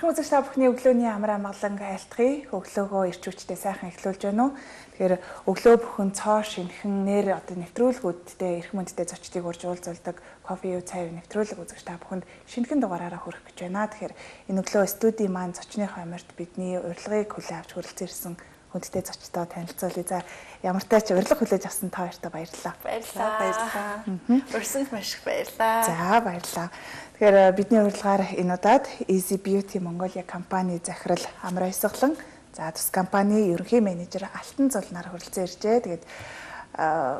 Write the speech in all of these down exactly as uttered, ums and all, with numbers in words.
Хэрхэн үзэгч та бүхний өглөөний амар амгалан айлтгая. Өглөөгөө ирч хүчтэй сайхан эхлүүлж байна уу? Тэгэхээр өглөө бүхэн цоо шинхэн нэр одоо нэвтрүүлгүүдтэй эрх мөндөдтэй зочдыг урьж уулзалдаг кофе юу цай нэвтрүүлэг үзэгч та бүхэнд шинэхэн дугаараараа хүрэх гэж байна. Тэгэхээр энэ өглөө студийн маань зочныхоо амарт бидний урилгыг хүлээн авч хүрэлцэн ирсэн хүндтэй зочдоо танилцуулъя. За ямар тач урилга хүлээж авсан та хоёртоо баярлалаа. Баярлалаа. Баярлалаа. Урьсанд маш их баярлалаа. За баярлалаа. Тэгэхээр бидний урилгаар энэ удаад Easy Beauty Mongolia компани захирал Амар Баясгалан, за тус компани ерөнхий менежер Алтан Зулнаар хүрэлцэн иржээ. Тэгээд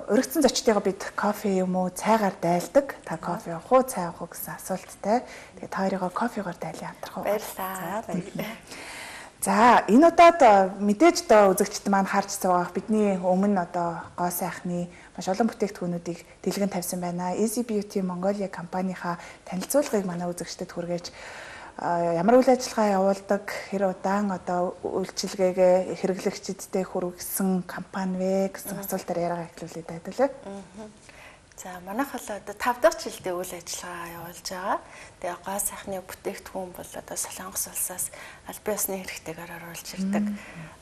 уригдсан зочдыгоо бид кофе юм уу, цайгаар дайлдаг. Та кофе уух уу, цай уух уу гэсэн асуулттай. Тэгээд та хоёроо кофегаар дайлан хамтрах уу? Баярлалаа. Баярлалаа. За энэ удаад мэдээж одоо үзэгчд маань харж байгаа бидний өмнө одоо гоо сайхны маш олон бүтээгдэхүүнүүдийг дэлгэн тавьсан байна. Easy Beauty Mongolia компанийхаа танилцуулгыг манай үзэгчдэд хүргээж ямар үйл ажиллагаа явуулдаг, хэр удаан одоо үйлчилгээгээ хэрэглэгчдэд хүргэсэн компани вэ гэсэн асуултаар яриагаа эхлүүлээд байлаа. За манайх бол одоо тав дахь жилдээ үйл ажиллагаа явуулж байгаа. Тэгээ гоо сайхны бүтээгдэхүүн бол одоо Солонгос улсаас аль биесны хэрэгтэйгээр оруулж ирдэг.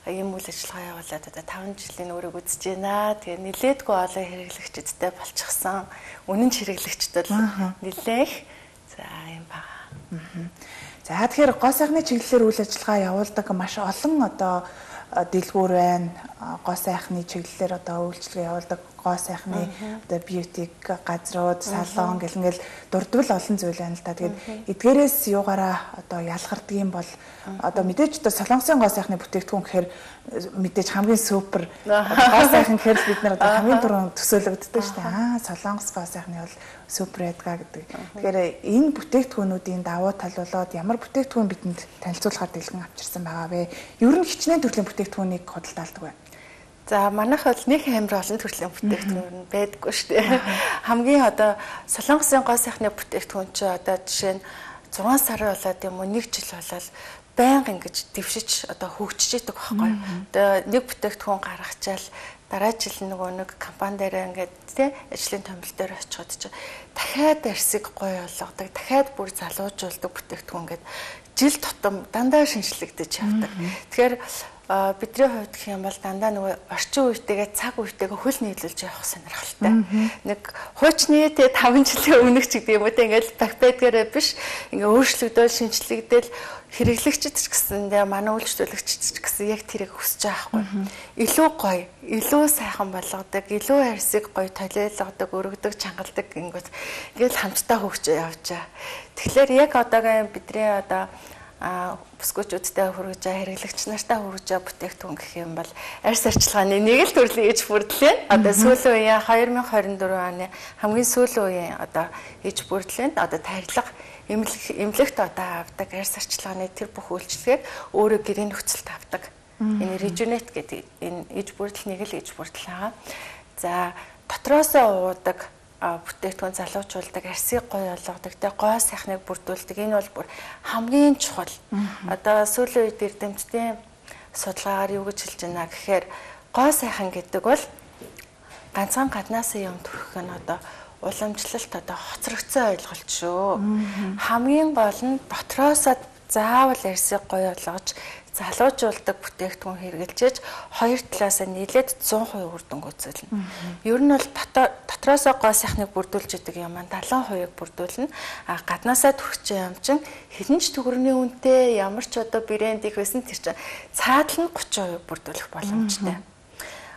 Ийм үйл ажиллагаа явуулаад одоо таван жилийн өрөөг үзэж байна. Тэгээ нилээдгүй олон хэрэглэгчдэдтэй болчихсон. Үнэн ч хэрэглэгчд бол нилээх. За юм байна. За тэгэхээр гоо сайхны чиглэлээр үйл ажиллагаа явуулдаг маш олон одоо дэлгүүр байна. Гоо сайхны чиглэлээр одоо үйлчлэгээ явуулдаг гоо сайхны одоо бьюти газрууд, салон гэл ингээл дурдвал олон зүйл байна л да. Тэгээд эдгээрээс юугаараа одоо ялгардаг юм бол одоо мэдээж одоо солонгосын гоо сайхны бүтээгдэхүүн гэхээр мэдээж хамгийн супер гоо сайхан гэхээр бид нар одоо хамгийн түрүүнд төсөөлөгддөг шүү дээ. Аа солонгос гоо сайхны бол супер эдгаа гэдэг. Тэгэхээр энэ бүтээгдэхүүнүүдийн давуу тал болоод ямар бүтээгдэхүүн бидэнд танилцуулахаар дэлгэн авчирсан байгаа вэ? Ер нь хичнээн төрлийн бүтээгдэхүүнийг худалдаалдаг байна. За манайх бол нэг амар олон төрлийн бүтээгдэхүүн байдаггүй шүү дээ. Хамгийн одоо солонгосын гоо сайхны бүтээгдэхүүн чи одоо жишээ нь зургаан сар болоод юм уу нэг жил болоод байнга ингэж дэвшиж одоо хөгжиж идэг байхгүй. Одоо нэг бүтээгдэхүүн гаргачаал дараа жил нөгөө нэг компани дээр ингээд тий ажлын томил дээр очиход чи дахиад арсыг гоё болгодог, дахиад бүр залуужуулдаг бүтээгдэхүүн ингээд жил тутам дандаа шинжлэгдэж явдаг. Тэгэхээр бидний хувьд гэх юм бол дандаа нөгөө орчин үетэйгээ цаг үетэйгээ хөл нийлүүлж явах сонирхолтой. Нэг хуучны тэ таван жилийн өмнөх ч гэдэг юм уу тэ ингээл бакбедгээрээ биш ингээ өөрчлөгдөөл шинжлэгдээл хэрэглэгчд ч гэсэндээ манай үйлчлүүлэгчд ч гэсэн яг тэрийг хүсэж байгаа хгүй. Илүү гоё, илүү сайхан болгодог, илүү арьсыг гоё толиолгодог, өргөдөг, чангалдаг гингүүд ингээл хамтдаа хөгжиж явж байгаа. Тэгэхээр яг одоогийн бидний одоо а бүсгүүчүүдтэй хүргэж байгаа хэрэглэгч нартай хүргэж байгаа бүтээгдэхүүн гэх юм бол арьс арчилгааны нэг л төрлийн иж бүрдлийн одоо сүүлийн үеийн две тысячи двадцать четыре оны хамгийн сүүлийн үеийн одоо иж бүрдлийн одоо тарилга эмнэлэгт одоо авдаг арьс арчилгааны тэр бүх үйлчлэгийг өөрөө гэрийн нөхцөлд авдаг. Энэ Rejuvenate гэдэг энэ иж бүрдэл нэг л иж бүрдэл байгаа. За дотроосоо уудаг бүтээгдэхүүн залуучуулдаг, арсыг гоё болгодог, тэ гоо сайхныг бүрдүүлдэг. Энэ бол бүр хамгийн чухал. Одоо сүүлийн үед эрдэмтдийн судалгаагаар юу гэж хэлж байна гэхээр гоо сайхан гэдэг бол ганцхан гаднаасаа юм төрөх нь одоо уламжлалт одоо хоцрогдсон ойлголт шүү. Хамгийн гол нь дотроосоо заавал арсыг гоё болгож залуужуулдаг бүтээгдэхүүн хэрэгжилж хоёр талаасаа нийлээд сто перцент үр дүн үзүүлнэ. Ер нь бол дотроосоо гоо сайхныг бүрдүүлж идэг юм аа сетenta процент бүрдүүлнэ. А гаднаасаа төрөх юм чинь хилэнч төгрөгийн үнэтэй ямар ч одоо брэнд их байсан тэр чинь цаадал нь тридцать процент бүрдүүлэх боломжтой.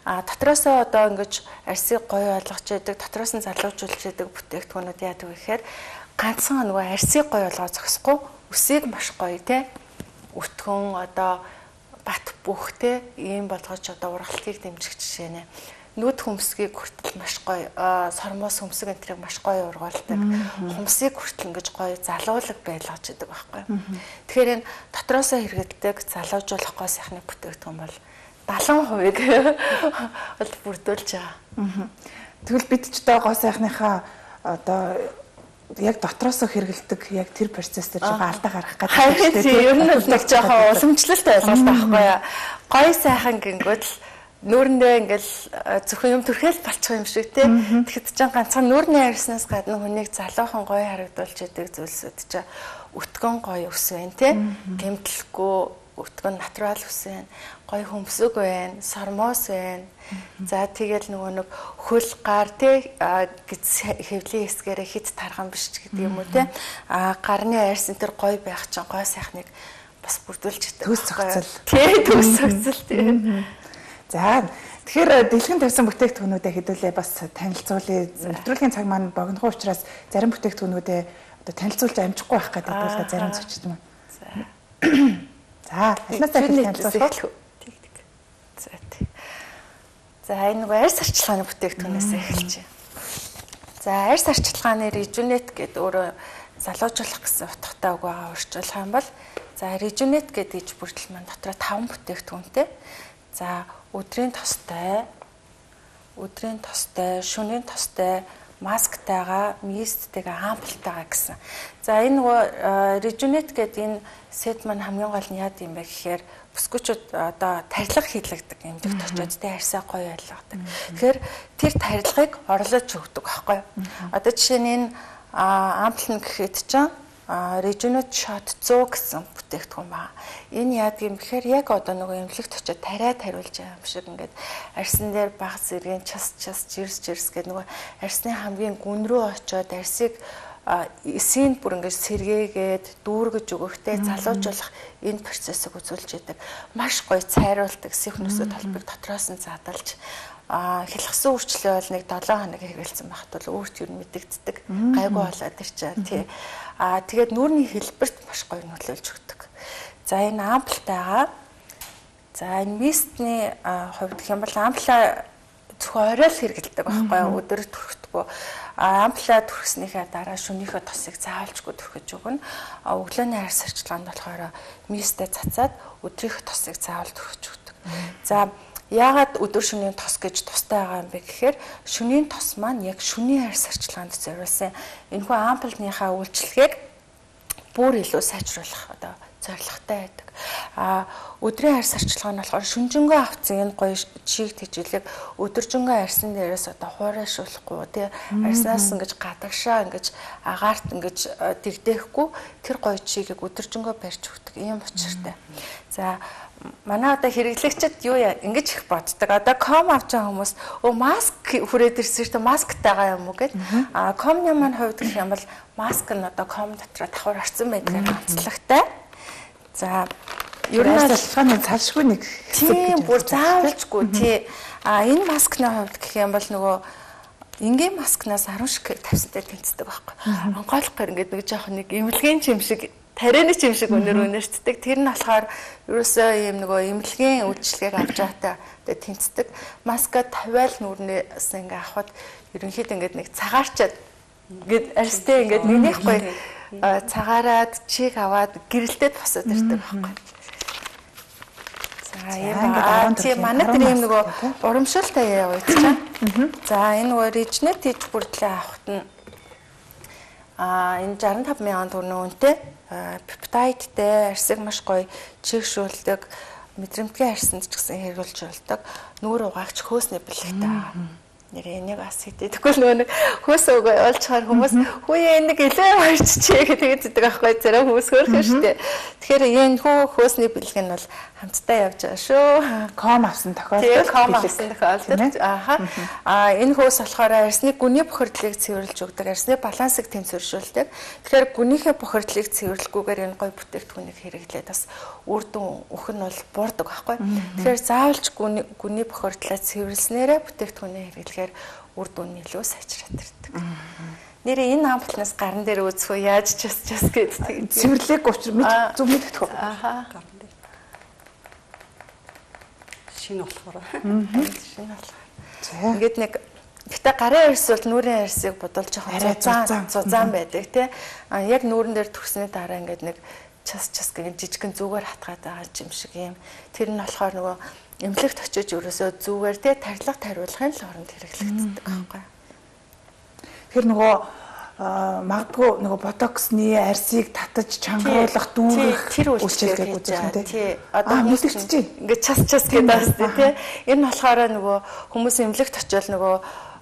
А дотроосоо одоо ингэж арсыг гоё болгож идэг, дотроос нь залуужуулж идэг бүтээгдэхүүнүүд яадаг вэ гэхээр ганцхан нөгөө арсыг гоё болгоо зогсохгүй, үсийг маш гоё тий өтгөн одоо бат бүх те ийм болгож одоо ургалтыг дэмжих жишээ нэ нүд хөмсгийг хүртэл маш гоё сормоос хөмсөг энтрийг маш гоё ургуулдаг хөмсгийг хүртэл ингэж гоё залуулаг байлгаж идэг байхгүй. Тэгэхээр энэ дотроосоо хэрэгэлдэг залуужуулах гоо сайхны бүтээгдэхүүн бол севент процент бол бүрдүүлж байгаа. Тэгвэл бид ч одоо гоо сайхныхаа одоо яг дотроосоо хэрэгэлдэг яг тэр процессор жоо алдаа гарах гэдэг юм шүү дээ. Ер нь бол нэг жоохон уламжлалт ойлголт байхгүй юу? Гоё сайхан гингүүд л нүүрэндээ ингээл зөвхөн юм төрхэл болчих юм шиг тий. Тэгэхэд ч ганцхан нүүрний арьснаас гадна хүнийг залуухан гоё харагдуулж идэг зүйлсүүд ч өтгөн гоё ус байна тий. Гэмтлэхгүй өтгөн натурал ус байна. Гоё хөмсөг байна, сормоос байна. За тэгэл нөгөө нэг хөл гар тий гэж хэвлийн хэсгээрээ хит тархан биш ч гэдэг юм уу тий. А гарны арьс энэ төр гоё байх чинь гой сайхныг бас бүрдүүлж төс зохицол. Тий төс зохицол тий. За тэгэхээр дэлгэн тавьсан бүтээгдэхүүнүүдэд хэдүүлээ бас танилцуулъя. Нэвтрүүлгийн цаг маань богино учраас зарим бүтээгдэхүүнүүдэд одоо танилцуулж амжихгүй байх гэдэг бол зарим зочид маань. За. За, алнаасаа танилцуулах. Тэг тэг. За тий. За энэ нэг арьс арчилгааны бүтээгдэхүүнээс эхэлж байна. За арьс арчилгааны Rejuvenate гэдэг өөрөө залуужуулах гэсэн утгатай үг байгаа орчуулах юм бол за Rejuvenate гэдэг иж бүрдэл маань дотроо таван бүтээгдэхүүнтэй. За өдрийн тостой, өдрийн тостой, шөнийн тостой, масктайгаа, мисттэйгээ ампултайгаа гэсэн. За энэ нөгөө Rejuvenate гэдэг энэ сет маань хамгийн гол нь яад юм бэ гэхээр бүсгүүчүүд одоо тарилга хийлэгдэг эмнэлэгт очиод тэ арьсаа гоё байлгадаг. Тэгэхээр тэр тарилгыг орлож өгдөг байхгүй юу? Одоо жишээ нь энэ ампул нь гэхэд чинь Rejuvenate shot зуун гэсэн бүтээгдэхүүн байна. Энэ яадаг юм гэхээр яг одоо нөгөө эмнэлэгт очиод тариа тариулж байгаа юм шиг ингээд арьсан дээр баг зэргийн час час жирс жирс гэдэг нөгөө арьсны хамгийн гүн рүү очиод арьсыг эсийн бүр ингээд сэргээгээд дүүргэж өгөхтэй залуужуулах энэ процессыг үзүүлж яадаг. Маш гоё цайруулдаг сихнүсээ толбыг дотроос нь задалж а хэлхсэн үрчлээ бол нэг долоон хоног хэрэгэлсэн байхад бол өөрт юу мэдэгддэг гайгүй болоод ирчээ тий. А тэгээд нүүрний хэлбэрт маш гоё нөлөөлж өгдөг. За энэ ампултайгаа за энэ мистний хувьд гэх юм бол ампула зөвхөн орой л хэрэгэлдэг байхгүй юу? Өдөр түрхэдэггүй. А ампула түрхснийхээ дараа шөнийхөө тосыг заавалжгүй түрхэж өгнө. А өглөөний арьс арчилгаанд болохоор мистэ цацаад өдрийнхөө тосыг заавал түрхэж өгдөг. За яагаад өдөр шөнийн тос гэж тустай байгаа юм бэ гэхээр шөнийн тос маань яг шөнийн арьс арчилгаанд зориулсан энэхүү ампулныхаа үйлчлэгийг бүр илүү сайжруулах одоо зорилготой байдаг. А өдрийн арьс арчилгаа нь болохоор шүнжэнгөө авцсан энэ гоё чиг тэжээлэг өдөржингөө арьсан дээрээс одоо хуурайшуулахгүй тий арьснаас ингэж гадагшаа ингэж агаарт ингэж дэгдээхгүй тэр гоё чигийг өдөржингөө барьж өгдөг ийм учиртай. За манай одоо хэрэглэгчид юу яа ингэж их боддог. Одоо ком авч байгаа хүмүүс өө маск хүрээд ирсэн шүү дээ масктайгаа юм уу гэд. А комны маань хувьд гэх юм бол маск нь одоо ком дотор давхар орсон байдаг онцлогтой. За ер нь салхааны цалшгүй нэг тийм бүр заавалжгүй тий. А энэ маскны хувьд гэх юм бол нөгөө энгийн маскнаас арван шиг тавьсантай тэнцдэг байхгүй. Онгойлгохоор ингээд нэг жоох нэг эмнэлгийн чим шиг тарианы чим шиг өнөр өнөртдөг. Тэр нь болохоор ерөөсөө ийм нөгөө эмнэлгийн үйлчлэгийг авч байгаатай одоо тэнцдэг. Маска тавиал нүрнээс ингээ авахд ерөнхийдөө ингээд нэг цагаарчаад ингээд арьстай ингээд нэгнийх гоё цагаараад чиг аваад гэрэлтэд босоод ирдэг байхгүй. За яа тийм манай тэр юм нөгөө урамшилтай яа гэж чам. За энэ нөгөө Rejuvenate хийж бүрдлээ авахт нь а энэ шестьдесят и пять мянган төгрөгийн үнэтэй пептидтэй арьсыг маш гоё чигшүүлдэг мэдрэмтгий арьсанд ч гэсэн хэрэглэж болдог нүүр угаагч хөөсний бэлэгтэй байгаа. Нэр энийг бас хэдэхгүй нөгөө нэг хөөс өгөө олчхаар хүмүүс хүүе энийг илүү марччихээ гэдэг зэдэг байхгүй зарим хүмүүс хөөрхөн штэ. Тэгэхээр энэ хөө хөөсний бэлэг нь бол хамтдаа явж байгаа шүү. Ком авсан тохиолдолд ком авсан тохиолдолд ааха а энэ хөөс болохоор арьсны гүний бохирдлыг цэвэрлж өгдөг, арьсны балансыг тэнцвэржүүлдэг. Тэгэхээр гүнийхээ бохирдлыг цэвэрлэхгүйгээр энэ гоё бүтээгдэхүүнийг хэрэглээд бас үр дүн өгөх нь бол буурдаг байхгүй. Тэгэхээр заавалж гүний гүний бохирдлаа цэвэрлснээрээ бүтээгдэхүүнээ хэрэглэхээр үр дүн нь илүү сайжраад ирдэг. Нэрээ энэ ампулнаас гарн дээр үзэх үү яаж ч бас ч гэдэг цэвэрлэх учир мэд зүг мэддэг. Ааха шинэ болохоор. Шинэ болохоор. Ингээд нэг гэтээ гарын арьс бол нүрийн арьсыг бодолж жоохон зузаан зузаан байдаг тий. А яг нүрэн дээр төрсний дараа ингээд нэг час час гэх жижигхэн зүгээр хатгаад байгаа юм шиг юм. Тэр нь болохоор нөгөө эмнэлэгт очиж ерөөсөө зүгээр тий тарилга тариулахын л оронд хэрэглэгддэг байхгүй. Тэгэхээр нөгөө магадгүй нөгөө ботоксны арьсыг татаж чангаруулах дүүрэх тэр үйлчлэгийг үзүүлэх юм тий. Одоо мэдчихэж ингээд час час гэдэг бас тий. Энэ болохоор нөгөө хүмүүс эмнэлэгт очиод нөгөө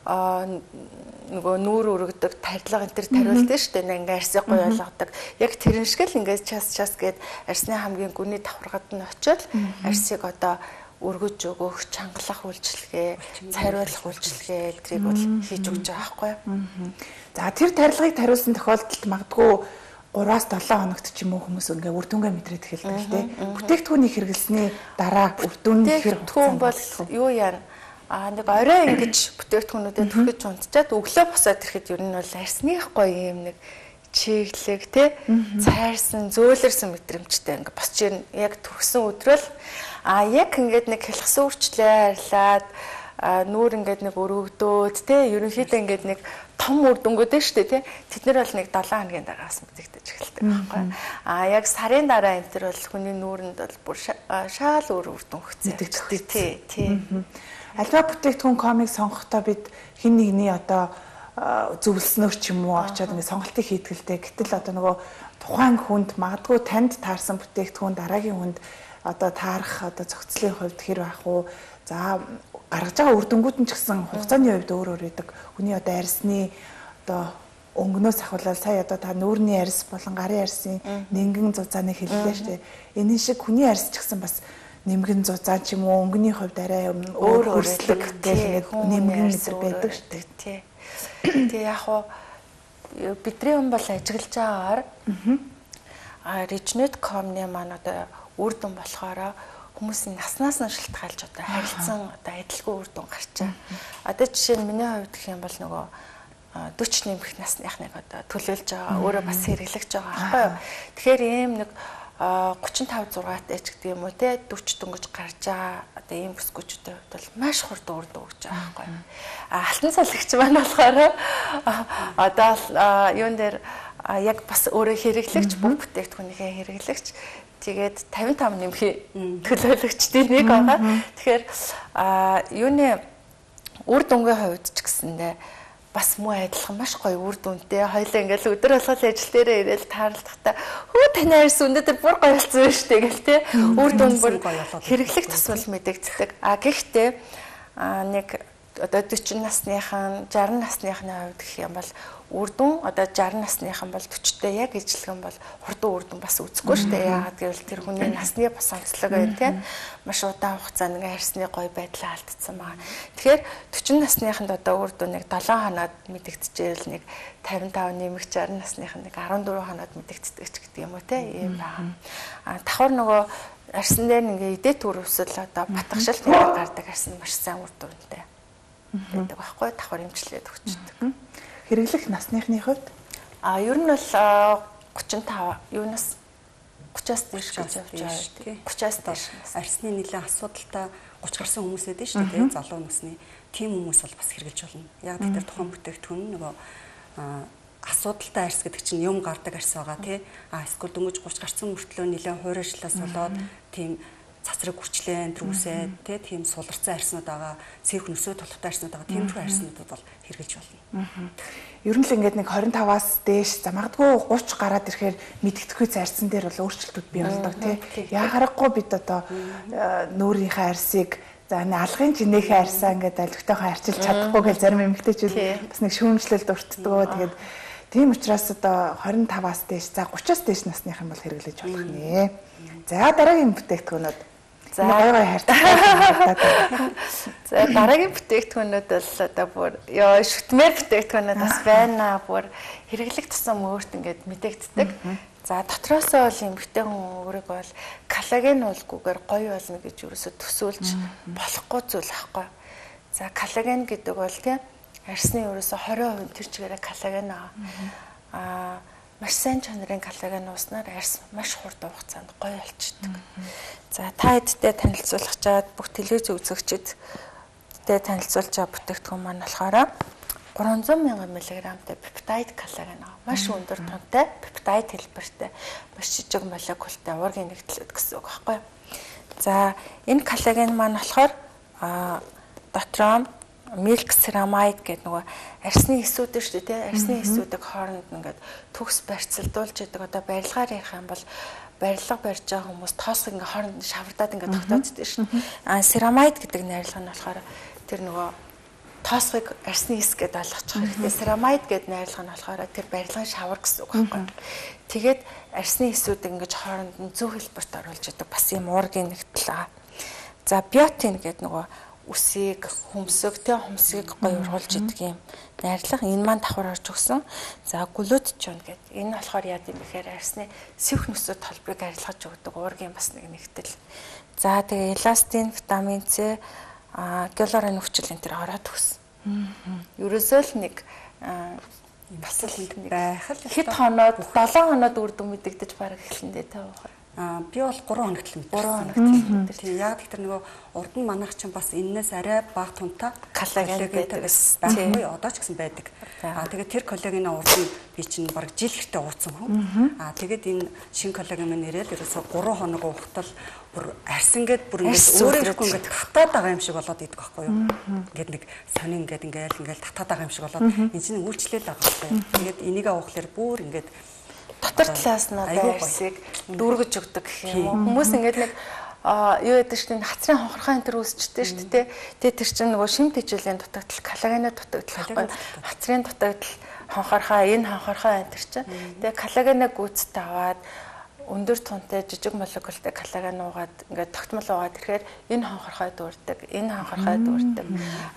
нөгөө нүүр өргөдөг тарилга энэ төр тариулдаг шүү дээ. Ингээ арсыг гоё болгодог. Яг тэрэн шиг л ингээ час час гээд арсны хамгийн гүний давхаргад нь очиод арсыг одоо өргөж өгөх, чангалах үйлчилгээ, цайруулах үйлчилгээ эдрийг бол хийж өгч байгаа байхгүй юу. За тэр тарилгыг тариулсан тохиолдолд магадгүй гураас долоон хоногт ч юм уу хүмүүс ингээ үр дүнгээ мэдрээд эхэлдэг л дээ. Бүтээгдэхүүнийг хэрэглэсний дараа үр дүн хэр хүн бол юу яана а нэг орой ингэж бүтээгдэхүүнүүдэд түрхэж унтчаад өглөө босоод ирэхэд ер нь бол арсных гоё юм нэг чиглэг тий цайрсан зөөлөрсөн мэдрэмжтэй ингээ босч ирнэ. Яг түрхсэн өдрөл а яг ингээд нэг хэлхсэн үрчлээ арилаад нүүр ингээд нэг өргөдөөд тий ерөнхийдөө ингээд нэг том үр дүнгууд шүү дээ тий тэд нар бол нэг долоон хоногийн дараагаас мэдэгдэж эхэлдэг байхгүй а яг сарын дараа энэ төр бол хүний нүүрэнд бол бүр шаал өөр үр дүн хөцөж тий тий альва бүтээгдэхүүн комик сонгохдоо бид хин нэгний одоо зөвлснөөр ч юм уу очиод ингээд сонголтыг хийдгэлтэй гэтэл одоо нөгөө тухайн хүнд магадгүй танд таарсан бүтээгдэхүүн дараагийн хүнд одоо таарах одоо зохицлын хувьд хэр байх уу за гаргаж байгаа үр дүнгууд нь ч гэсэн хугацааны хувьд өөр өөр байдаг. Хүний одоо арьсны одоо өнгнөөс ахвалал сая одоо та нүүрний арьс болон гарын арьсын нингэн зузааны хэллээ шүү дээ. Энэ шиг хүний арьс ч гэсэн бас нэмгэн зузаан ч юм уу өнгөний хувьд арай өөр өөрчлөлт гэх нэмгэн зэрэг байдаг шүү дээ. Тий. Тэгээ яг хуу бидний хүн бол ажиглаж байгаагаар а Regenet точка com-ны маань одоо үр дүн болохоор хүмүүсийн наснаас нь шалтгаалж одоо харилцан одоо адилгүй үр дүн гарчаа. Одоо жишээ нь миний хувьд гэх юм бол нөгөө forty нэмэх насныхныг одоо төлөөлж байгаа өөрөө бас хэрэглэж байгаа байхгүй юу. Тэгэхээр ийм нэг thirty-five зургаатай ч гэдэг юм уу те forty дөнгөж гарч байгаа одоо ийм бүсгүүчүүдийн хувьд бол маш хурдан үр дүн өгч байгаа байхгүй юу. А алтан цалгч маань болохоор одоо юун дээр яг бас өөрөө хэрэглэгч бүх бүтээгдэхүүнийхээ хэрэглэгч тэгээд fifty-five нэмхий төлөөлөгчдийн нэг байгаа. Тэгэхээр юуны үр дүнгийн хувьд ч гэсэндээ бас муу адилхан маш гоё үр дүнтэй. Хоёлаа ингээл өдөр болгол ажил дээрээ ирээл таарлахдаа хөө таны арьс өнөөдөр бүр гоё болсон байна шүү дээ гэл те. Үр дүн бүр хэрэглэх тусмал мэдэгддэг. А гэхдээ нэг одоо forty насныхан, sixty насныхны хувьд гэх юм бол үр дүн одоо sixty насныхан бол forty-тэй яг ижилхэн бол хурдан үр дүн бас үзэхгүй шүү дээ. Яагаад гэвэл тэр хүний насны бас онцлог байна тийм. Маш удаан хугацаанд ингээ арьсны гоё байдлаа алдсан байгаа. Тэгэхээр forty насныханд одоо үр дүн нэг seven хоноод мэдэгдэжээл нэг fifty-five нэмэх sixty насныхан нэг fourteen хоноод мэдэгддэг ч гэдэг юм уу тийм ийм байгаа. А давхар нөгөө арьсан дээр ингээ эдээ төрөвсөл одоо батгашилт гардаг арьсан маш сайн үр дүнтэй байдаг байхгүй давхар имжлээд өгчдөг. Хэрэглэх насныхны хувьд а ер нь бол thirty-five юунаас thirty-аас дээш гэж явж байгаа. thirty-аас дээш арьсны нэлээд асуудалтай thirty гарсан хүмүүс байдаг шүү дээ. Залуу насны тийм хүмүүс бол бас хэрэгжилж болно. Яг тэр тухайн бүтээгдэхүүн нөгөө асуудалтай арьс гэдэг чинь юм гардаг арьс байгаа тий. А эсвэл дөнгөж thirty гарсан мөртлөө нэлээд хуурайшлаас болоод тийм цацраг хүрчлэн трүүсээ тий тийм суларцсан арьснууд байгаа, сэрх нөсөө толготой арьснууд байгаа. Тийм төрлийн арьснуудад бол хэрэгжилж болно. Ер нь л ингээд нэг twenty-five-аас дээш за магадгүй thirty гараад ирэхээр мэдгэдэхгүй зарцсан дээр бол өөрчлөлтүүд бий болдог тий. Яагарахгүй бид одоо нүүрийнхээ арьсыг за энэ алгын жинэхээ арьсаа ингээд алгтайхан арчилж чадахгүй гэж зарим эмэгтэйчүүд бас нэг шүүмжлэлд өртдгөө. Тэгээд тийм учраас одоо twenty-five-аас дээш за thirty-аас дээш насных юм бол хэрэглэж болох нэ. За дараагийн бүтээгдэхүүнүүд за гой гой хайртай. За дараагийн бүтээгдэхүүнүүд бол одоо бүр ёо шүтмээр бүтээгдэхүүнүүд бас байна. Бүр хэрэглэх тусам өөрт ингээд мэдэгддэг. За дотроосоо бол эмэгтэй хүн өөрийгөө бол коллаген уулгүйгээр гоё болно гэж юусоо төсөөлж болохгүй зүйл аахгүй. За коллаген гэдэг бол тийм арьсны ерөөсө twenty percent тэр чигээрээ коллаген аа маш сайн чанарын коллаген ууснаар арьс маш хурдан хугацаанд гоё болчихдог. За та хэдтэй танилцуулах чад бүх телевиз үзэгчдэд танилцуулж байгаа бүтээгдэхүүн маань болохоор three hundred мянган миллиграммтай пептайд коллаген аа маш өндөр тунтай пептайд хэлбэртэй маш жижиг молекултай уургийн нэгдлүүд гэсэн үг байхгүй. За энэ коллаген маань болохоор аа дотроо milk ceramide гэдэг нөгөө арьсны эсүүд шүү дээ тий арьсны эсүүдийг хооронд ингээд төгс барьцалдуулж яадаг одоо барилгаар ярих юм бол барилга барьж байгаа хүмүүс тоосог ингээд хооронд шавардаад ингээд тогтооддаг шүү. А ceramide гэдэг найрлага нь болохоор тэр нөгөө тоосхыг арсны эс гэдээ ойлгочих хэрэгтэй. Ceramide гэдэг найрлага нь болохоор тэр барилгын шавар гэсэн үг байхгүй. Тэгээд арсны эсүүдийг ингэж хооронд нь зөв хэлбэрт оруулж идэг бас юм уургийн нэгтэл байгаа. За биотин гэдэг нөгөө үсийг, хөмсөг, тэ хөмсгийг гоё ургуулж идэг юм найрлага. Энэ маань давхар орж өгсөн. За глютичон гэдэг. Энэ болохоор яа гэм бэхээр арсны сэвх нөсөд толбыг арилгаж өгдөг уургийн бас нэг нэгтэл. За тэгээ эластин, витамин С, а гиалурон өвчл энэ төр ороод өгсөн. Ерөөсөө л нэг бас л нэг байх л хэд хоноод долоон хоноод үр дүн мэдэгдэж бараг эхлэндээ тав. Аа би бол гурван хоногт л мэдээ. гурван хоногт. Тийм яг тэр нөгөө урд нь манайх чинь бас энэс арай бага тунтаа коллаген гэдэг байхгүй одоо ч гэсэн байдаг. Аа тэгээд тэр коллагенаа урд нь би чинь бараг жил хэртэ ууцсан хүн. Аа тэгээд энэ шин коллаген мань нэрэл ерөөсө гурван хоног уухтал бүр арсан гээд бүр ингээд өөрөө ирэхгүй ингээд татаад байгаа юм шиг болоод идэх байхгүй юу. Ингээд нэг сонин ингээд ингээд ингээд татаад байгаа юм шиг болоод энэ чинь үйлчлэл байгаа байхгүй юу. Тэгээд энийг аахлаар бүр ингээд дотор талаас нь байрсыг дүүргэж өгдөг гэх юм уу. Хүмүүс ингээд нэг юу яадаг чинь хацрын хонхорхоо энэ төр үүсчтэй шүү дээ. Тэгээ тэр чинь нөгөө шимт хичээлийн дутагдал, коллагены дутагдал байхгүй. Хацрын дутагдал, хонхорхоо, энэ хонхорхоо энэ төр чинь. Тэгээ коллагены гүйцэд аваад өндөр тунтай жижиг молекултай коллаген уугаад ингээд тогтмол уугаад ирэхээр энэ хонхорхой дүүрдэг, энэ хонхорхой дүүрдэг.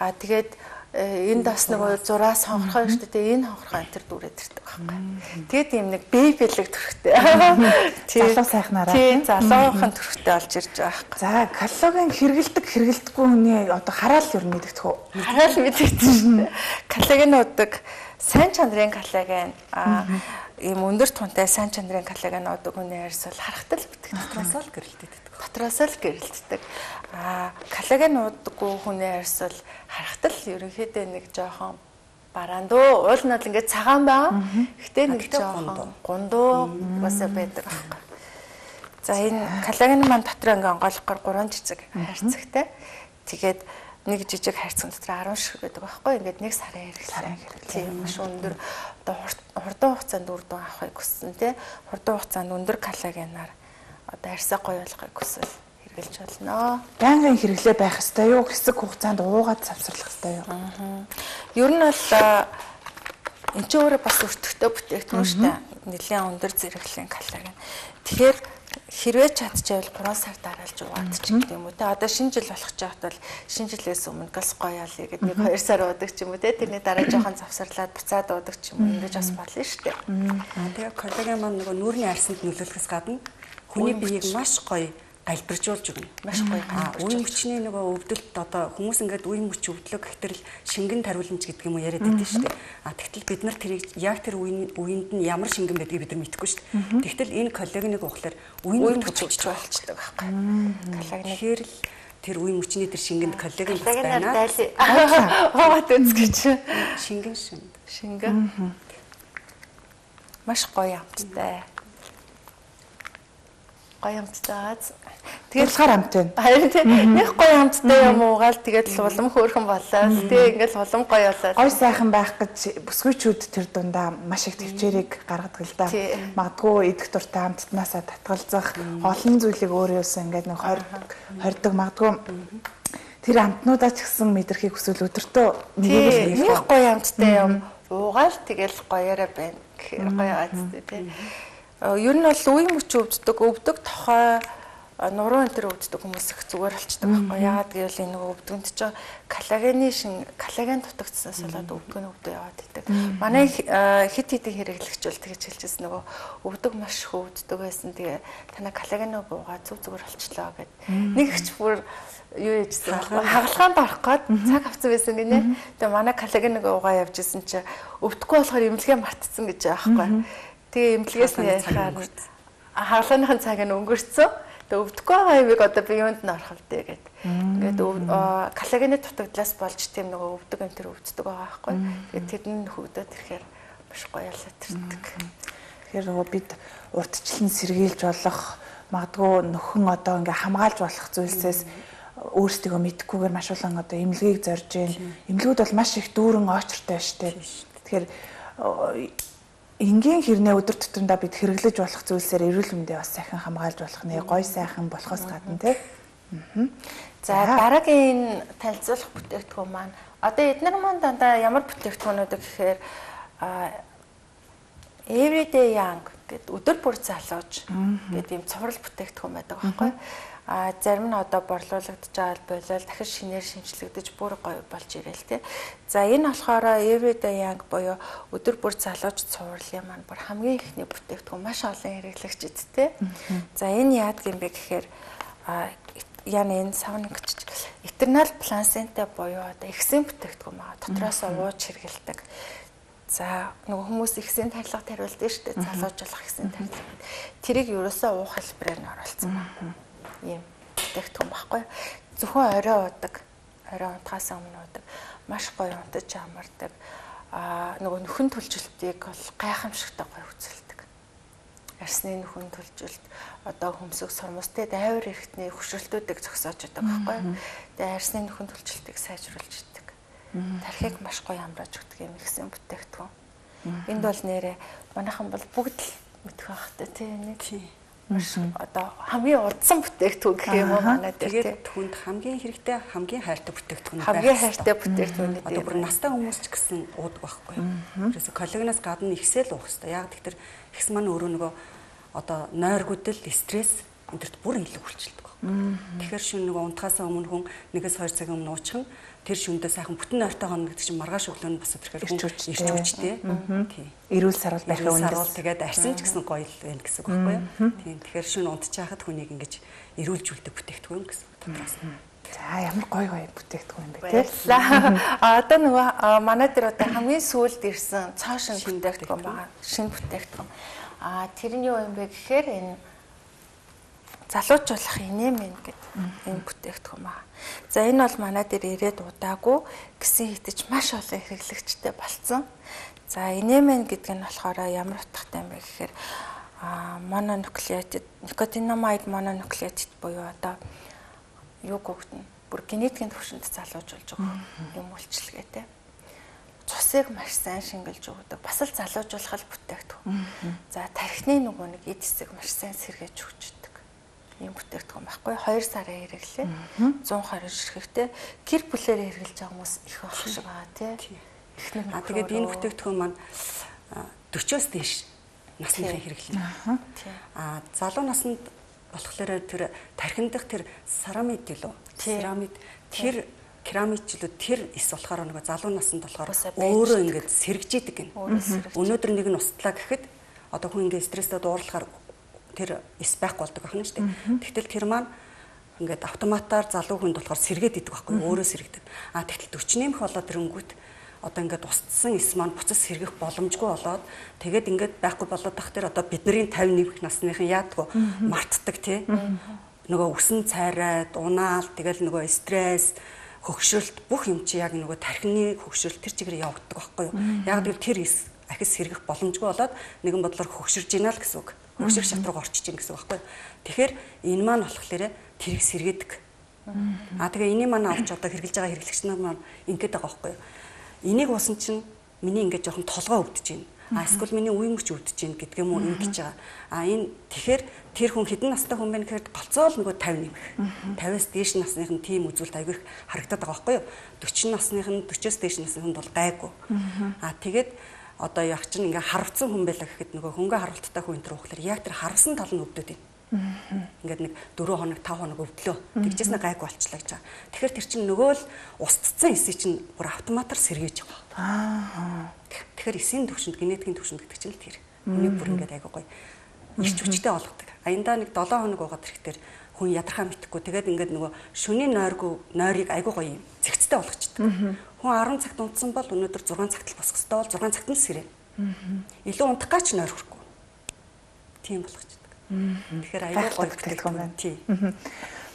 Аа тэгээд энд бас нөгөө зураас хонхорхой шүү дээ. Энэ хонхорхой энэ төр дүүрээд ирдэг байхгүй. Тэгээд юм нэг бэбилэг төрхтэй. Залуу сайхнараа. Тийм залуухан төрхтэй олж ирж байгаа байхгүй. За коллаген хэрэгэлдэг хэрэгэлдэггүй хүний одоо хараал юу мэдэгдэх үү? Хараал мэдэгдэх шүү дээ. Коллагенуудыг сайн чанарын коллаген аа ийм өндөр тунтай сайн чанарын коллаген уудаг хүний арьс бол харахтал битгий дотроос л гэрэлтдэг. Дотроос л гэрэлтдэг. Аа коллаген уудаггүй хүний арьс бол харахтал ерөнхийдөө нэг жоохон бараандуу. Уул нь бол ингээд цагаан байгаа. Гэхдээ нэг жоохон гундуу бас байдаг аахгүй. За энэ коллаген маань дотор ингээд онгойлгохоор гурван цэцэг харьцагтай. Тэгээд нэг жижиг хайрцаг дотор арван шиг байдаг байхгүй. Ингээд нэг сарын хэрэглээ. Тийм маш өндөр одоо хурдан хугацаанд үр дүн авахыг хүссэн тий. Хурдан хугацаанд өндөр коллагенаар одоо арьсаа гоё болгохыг хүсвэл хэрэглэж болно. Байнгын хэрэглээ байх ёстой юу? Хэсэг хугацаанд уугаад завсарлах ёстой юу? Аа. Ер нь бол энэ ч өөрөө бас өртөгтэй бүтээгдэхүүн шүү дээ. Нэлээд өндөр зэрэглэлийн коллаген. Тэгэхээр хэрвээ чадчихвал гурван сар дараалж уугаад ч гэдэг юм уу те. Одоо шинэ жил болох ч яхад бол шинэ жилээс өмнө газ гоёолъя гэдэг нэг хоёр сар уудаг ч юм уу те. Тэрний дараа жоохон завсарлаад буцаад уудаг ч юм уу ингэж бас болно шүү дээ. Аа тэгээ коллаген маань нөгөө нүүрний арьсанд нөлөөлөхөөс гадна хүний биеийг маш гоё галбиржуулж өгнө. Маш гоё. Аа үе мөчний нөгөө өвдөлт одоо хүмүүс ингээд үе мөч өвдлөг гэтэл шингэн тариуламж гэдэг юм уу яриад байдаг шүү дээ. Аа тэгтэл бид нар тэрийг яг тэр үеийн үеинд нь ямар шингэн байдгийг бид нар мэдэхгүй шүү дээ. Тэгтэл энэ коллагеныг уухлаар үе мөч өвчж болчдөг байхгүй. Коллаген тэгэхээр л тэр үе мөчний тэр шингэнд коллаген байна. Хаваад үзгэж. Шингэн шинг. Шингэн. Маш гоё амттай. Гоё амттай. Тэгээд болохоор амт байна. Харин тийм нэг гоё амттай юм уугаал тэгээд улам хөөрхөн болоо. Тэг ингээл улам гоё болоо. Гой сайхан байх гэж бүсгүйчүүд тэр дундаа маш их төвчээрийг гаргадаг л да. Магадгүй идэх дуртай амттнаасаа татгалзах олон зүйлийг өөрөөсөө ингээд нэг хордог магадгүй тэр амтнуудаа ч гэсэн мэдрэхийг хүсвэл өдөртөө нэг гоё амттай юм уугаал тэгэл гоёороо байна. Гэхээр гоё аадтай тийм. Ер нь бол үе мөч өвддөг, өвдөг тохой нуруу энэ төр өвддөг хүмүүс их зүгээр болчдөг байхгүй. Яагаад гэвэл энэ нөгөө өвдгөнд чинь коллагены шин коллаген дутагдсанаас болоод өвдгөн өвдөө яваад идэг. Манай хит хитийн хэрэглэгч бол тэгж хэлчихсэн нөгөө өвдөг маш их өвддөг байсан. Тэгээ танаа коллагеноо буугаа зүг зүгээр болчлоо гэд. Нэг ихч бүр юу яжсэн байхгүй. Хагалгаанд орох гээд цаг авсан байсан гинэ. Тэгээ манай коллагеныг уугаа явж исэн чи өвдөхгүй болохоор эмнэлгээ мартцсан гэж байгаа байхгүй. Тэгээ эмнэлгээс нь яхаар хагалгааныхын цаг нь өнгөрцөө. Тэгээ өвдөхгүй байгаа юмыг одоо би юунд нь орох вэ гэд. Ингээд коллагены дутагдлаас болж тийм нөгөө өвдөг энэ төр өвддөг байгаа байхгүй. Тэгээд тэр нь хөвдөд ирэхээр маш гоё болоод ирдэг. Тэгэхээр нөгөө бид урдчлан сэргийлж болох магадгүй нөхөн одоо ингээ хамгаалж болох зүйлсээс өөрсдөө мэдхгүйгээр маш олон одоо эмнэлгийг зорж гин. Эмнэлгүүд бол маш их дүүрэн очртой байна шүү дээ. Тэгэхээр энгийн хэрнээ өдөр тутамдаа бид хэрэглэж болох зүйлсээр эрүүл мэндийг бас сайхан хамгаалж болох нэ гоё сайхан болохоос гадна тий. За дараагийн танилцуулах бүтээгдэхүүн маань Одоо эдгээр маань дандаа ямар бүтээгдэхүүнүүд гэхээр everyday young гэдэг өдөр бүр залууж гэдэг юм цуврал бүтээгдэхүүн байдаг байхгүй. А зарим нь одоо борлуулагдаж байгаа болол дахин шинээр шинжлэгдэж бүр гоё болж ирэл тэ. За энэ болохоор everyday young буюу өдөр бүр залууж цувралын маань бүр хамгийн ихний бүтээгдэхүүн маш олон хэрэглэгчд тэ. За энэ яад гэм бэ гэхээр яна энэ савнагч eternal placenta буюу одоо ихсэн бүтээгдэхүүн байгаа. Дотроос ууж хэрэгэлдэг. За нөгөө хүмүүс ихсэн тарилга тариулдаг шүү дээ. Залуужуулах ихсэн тарилга. Тэрийг ерөөсөө уух хэлбэрээр нь оруулсан байна. Ийм бүтээгдэхүүн баггүй. Зөвхөн орой уудаг, орой унтахаас өмнө уудаг, маш гоё унтаж амардаг. Аа нөгөө нөхөн төлжилтийг бол гайхамшигтай гоё үзүүлдэг. Арсны нөхөн төлжилт, одоо хөмсөг сурмустай дайвар эрхтний хөшрөлтүүдийг зогсоож байдаг байхгүй. Тэгээ арсны нөхөн төлжилтийг сайжруулж идэг. Тархийг маш гоё амрааж өгдөг юм ихсэн бүтээгдэхүүн. Энд бол нэрээ манайхан бол бүгд л мэдэх байхтай тийм нэг. Одоо хамгийн удсан бүтээгдэхүүн гэх юм уу манай дээр тийм. Түнд хамгийн хэрэгтэй хамгийн хайртай бүтээгдэхүүн байх. Хамгийн хайртай бүтээгдэхүүн. Одоо бүр настай хүмүүс ч гэсэн уудаг байхгүй. Тэрээс коллагенаас гадна ихсэл уух хэрэгтэй. Яг тэгэхээр ихс маань өөрөө нөгөө одоо нойргуудл, стресс энтерт бүр илүү хүлчилдэг байна. Тэгэхээр шүн нөгөө унтахаас өмнө хүн нэгээс хоёр цагийн өмнө уучихсан тэр шүндээ сайхан бүтэн нойртойгоо гэдэг чинь маргааш өглөө нь бас тэрхээр хүн ирч хүчтэй. Тийм. Эрүүл сарвал байх юм. Сарвал тэгээд арьсан ч гэсэн гоё л байна гэсэн үг байхгүй юу? Тийм. Тэгэхээр шүн унтчихад хүнийг ингэж эрүүлжүүлдэг бүтээгдэхүүн гэсэн дотроос. За ямар гоё гоё бүтээгдэхүүн юм бэ те. Одоо нөгөө манай дээр одоо хамгийн сүүлд ирсэн цаашин бүтээгдэхүүн байгаа. Шинэ бүтээгдэхүүн. А тэр нь юу юм бэ гэхээр энэ залуужуулах инээмэн гэдэг энэ бүтээгдэхүүн байна. За энэ бол манай дээр ирээд удаагүй гэсэн хитэж маш олон хэрэглэгчтэй болсон. За инээмэн гэдэг нь болохоор ямар утгатай юм бэ гэхээр мононуклеотид, никотинамид мононуклеотид буюу одоо юу гогдно. Бүр генетикийн төвшөнд залуужуулж байгаа юм үйлчлэгээ те. Цусыг маш сайн шингэлж өгдөг. Бас л залуужуулах бүтээгдэхүүн. За тархины нөгөө нэг эд хэсэг маш сайн сэргээж өгчдөг. Ийм бүтээгдэхүүн байхгүй. хоёр сарын хэрэглээ. зуун хорин ширхэгтэй гэр бүлээр хэрэглэж байгаа хүмүүс их байх шиг байгаа тий. А тэгээд энэ бүтээгдэхүүн маань дөрвөөс дээш насныхаа хэрэглээ. А залуу наснд болохоор тэр тархин дах тэр церамид гэлөө. Церамид тэр керамичлүүд тэр эс болохоор нэг залуу наснд болохоор өөрөө ингээд сэргэж идэг гин. Өнөөдөр нэг нь устдлаа гэхэд одоо хүн ингээд стресстэй дуурлахаар тэр эс байхгүй болдог байна шүү дээ. Тэгтэл тэр маань ингээд автоматар залуу хүнд болохоор сэргээд идэг байхгүй өөрөө сэргдэг. А тэгтэл өчнөмх болоод тэрэнгүүт одоо ингээд устсан эс маань буцаж сэргэх боломжгүй болоод тэгээд ингээд байхгүй болоод тах тэр одоо бидний пятьдесят нэг насныхан яадгүй мартдаг тий. Нөгөө үсэн цайраад унаал тэгэл нөгөө стресс хөгшрөлт бүх юм чи яг нөгөө тархины хөгшрөлт тэр чигээр явагддаг байхгүй юу. Яг л тэр ахис сэргэх боломжгүй болоод нэгэн бодлоор хөгширж ийна л гэсэн үг. Хөгшрөх шат руу орчиж ийн гэсэн үг байхгүй юу. Тэгэхээр энэ маань болохоор тэрийг сэргээдэг. Аа тэгээ энийг маань авч одоо хэрэглэж байгаа хэрэглэгч нар маань ингэж байгаа байхгүй юу. Энийг уусан чинь миний ингээд жоохон толгой өвдөж байна. А эсвэл миний үе мөч өвдөж байна гэдэг юм уу ингэж байгаа. А энэ тэгэхээр тэр хүн хэдэн настай хүн бэ гэхээр голцоол нөгөө пятьдесят нэмэх. пятьдесяас дээш насных нь тийм үзүүлэлт аягүй их харагдаад байгаа байхгүй юу? forty насных нь forty-оос дээш насных нь бол гайгүй. А тэгээд одоо яг чинь ингээ харвцсан хүн байлаа гэхэд нөгөө хөнгө харвалттай хүн энэ төр ухлаар яг тэр харвсан тал нь өвдөд байна. Ингээд нэг four хоног five хоног өвдлөө. Тэгжээс нэг гайгүй болчлаа гэж байгаа. Тэгэхээр тэр чинь нөгөө л устцсан эсийг чинь бүр автоматар сэргээж байгаа. Аа. Тэгэхээр эсийн төвшөнд генетикийн төвшөнд гэдэг чинь л тэр. Үнийг бүр ингээд айгүй гоё ирч хүчтэй болгодог. Аяндаа нэг seven хоног уугаад ирэхээр хүн ядархаа мэдхгүй. Тэгээд ингээд нөгөө шөнийн нойргүй нойрыг айгүй гоё зэгцтэй болгочдөг. Хүн ten цагт унтсан бол өнөөдөр six цагт л босох ёстой бол six цагт нь сэрнэ. Илүү унтах гач нойр хүрхгүй. Тийм болгочдөг. Тэгэхээр айгүй гоё бүтээгдэхүүн байна. Тий.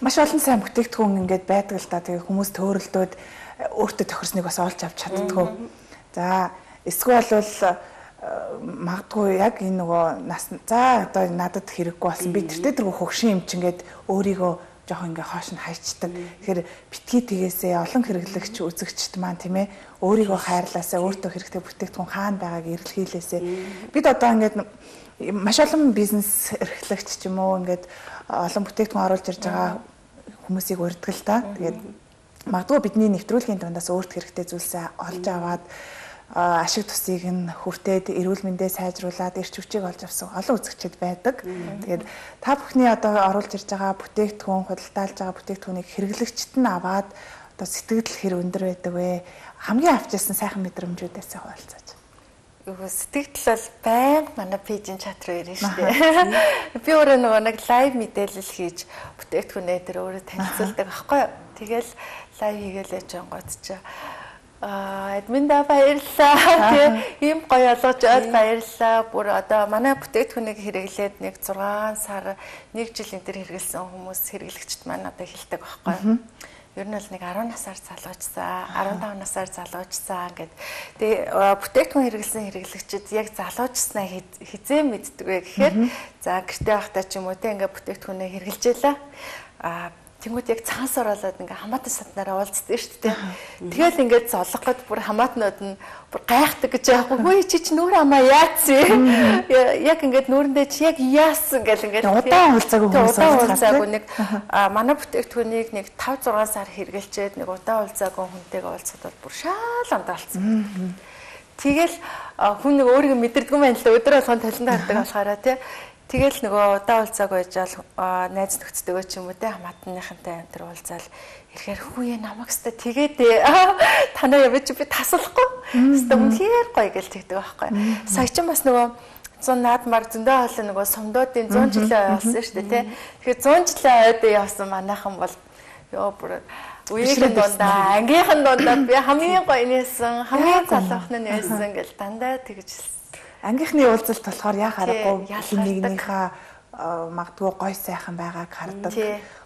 Маш олон сайн бүтээгдэхүүн ингээд байдаг л да. Тэгээ хүмүүс төөрөлдөөд өөртөө тохирсныг бас олж авч чаддгүй. За эсвэл бол магадгүй яг энэ нөгөө нас за одоо надад хэрэггүй болсон. Би тэртээ тэргүй хөгшин юм чи ингээд өөрийгөө жоохон ингээ хоош нь хайчдаг. Тэгэхээр битгий тгээсээ олон хэрэглэгч үзэгчд маань тийм ээ өөрийгөө хайрлаасаа өөртөө хэрэгтэй бүтээгдэхүүн хаана байгааг эргэлхийлээсээ. Бид одоо ингээд маш олон бизнес эрхлэгч ч юм уу ингээд олон бүтээгдэхүүн оруулж ирж байгаа хүмүүсийг урьдаг л да. Тэгээд магадгүй бидний нэвтрүүлгийн дундаас өөрт хэрэгтэй зүйлсээ олж аваад ашиг тусыг нь хүртээд эрүүл мэндээ сайжруулад эрч хүчийг олж авсан олон үзэгчид байдаг. Тэгээд та бүхний одоо оруулж ирж байгаа бүтээгдэхүүн, худалдаалж байгаа бүтээгдэхүүнийг хэрэглэгчд нь аваад одоо сэтгэл хэр өндөр байдаг вэ? Хамгийн авчирсан сайхан мэдрэмжүүдээс хуваалцаач. Сэтгэл бол байнга манай пэйжийн чат руу ирнэ шүү дээ. Би өөрөө нөгөө нэг лайв мэдээлэл хийж бүтээгдэхүүнээ дээр өөрөө танилцуулдаг аахгүй юу. Тэгэл лайв хийгээл яж ангууд чи аа админда баярлалаа. Ийм гоё олгож ойд баярлалаа. Бүр одоо манай бүтээгдэхүүнийг хэрэглээд нэг зургаан сар нэг жил энэ төр хэрэгэлсэн хүмүүс хэрэглэгчд маань одоо хэлдэг байхгүй юу. Ер нь л нэг арван насаар залуучсан, арван таван насаар залуучсан гэд. Тэгээ бүтээгдэхүүн хэрэглэсэн хэрэглэгчид яг залуучснаа хизээ мэддэг вэ гэхээр за гэртээ байхдаа ч юм уу те ингээ бүтээгдэхүүнээ хэрэглэж ялаа. Аа тэнгууд яг цаанаас оролоод ингээ хамаатан саднараа уулздаг шүү дээ. Тэгэл ингээд золгоход бүр хамаатнууд нь бүр гайхдаг гэж яахгүй. Хөөе чи ч нүүр амаа яац. Яг ингээд нүүрэндээ чи яг яасан гэл ингээд удаан уулзаагүй хүмүүс удаан уулзаагүй нэг манай бүтээгдэхүүнийг нэг тавь зургаан сар хэрэглэчээд нэг удаан уулзаагүй хүнтэйгээ уулзахад бол бүр шаал амдаалцсан. Тэгэл хүн нэг өөрийгөө мэдэрдэггүй байна л өдөр болгон талентаа хардаг болохоор тий. Тэгэл нөгөө удаа уулзааг байжаал найз нөхцөлтэйгөө ч юм уу те хамаатныхантай энэ төр уулзаал ирэхээр хүүе намайг өстө тэгээд танаа явж би тасалахгүй өстө үнэхээр гоё гэл тэгдэг байхгүй. Сая ч бас нөгөө зүүн наадмар зөндөө хоолой нөгөө сумдуудын зуун жилийн ой болсон шүү дээ те. Тэгэхээр зуун жилийн ойд явсан манайхан бол ёо бүр үеийн дундаа ангийнхан дундаа би хамгийн гоё нээсэн хамгийн залуухан нь нээсэн гэл дандаа тэгж ангийнхны уулзалт болохоор яа харахгүй нэгнийхээ магадгүй гой сайхан байгааг хардаг,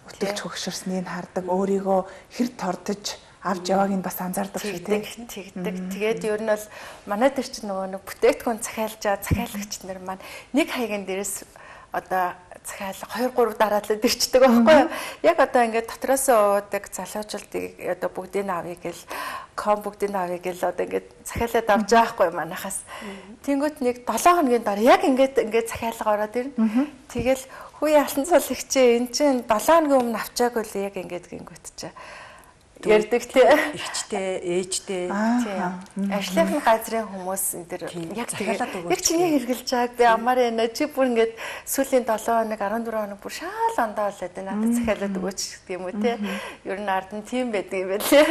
өтөлж хөгшөрснийг хардаг, өөрийгөө хэр тордож авч явааг нь бас анзаардаг шиг тэгдэг. Тэгээд ер нь бол манай дээр чинь нөгөө нэг бүтээгдэхүүн захиалж байгаа захиалагч нар маань нэг хаягийн дээрээс одоо захиалга хоёр гурав дараалал ирчдэг байхгүй юу? Яг одоо ингээд дотроос уудаг залуучуудыг одоо бүгдийг авъя гэл ком бүгдийг авъя гэл одоо ингээд захиалаад авч байгаа байхгүй юу манахаас. Тэнгүүт нэг долоо хоногийн дараа яг ингээд ингээд захиалга ороод ирнэ. Тэгэл хүүе алтан цол ихчээ эн чинь долоо хоногийн өмнө авчаагүй л яг ингээд гингүүт чи ярддаг тий. Ихчтэй, ээжтэй. Тийм. Ажлын газрын хүмүүс энэ төр яг захиалаад өгөөч. Яг чиний хэрглэж байгааг би амаар байна. Чи бүр ингээд сүүлийн долоо хоног арван дөрөв хоног бүр шаал ондоо болоод байна. Надад захиалаад өгөөч гэх юм уу тий. Ер нь ард нь тийм байдаг юм байна тий.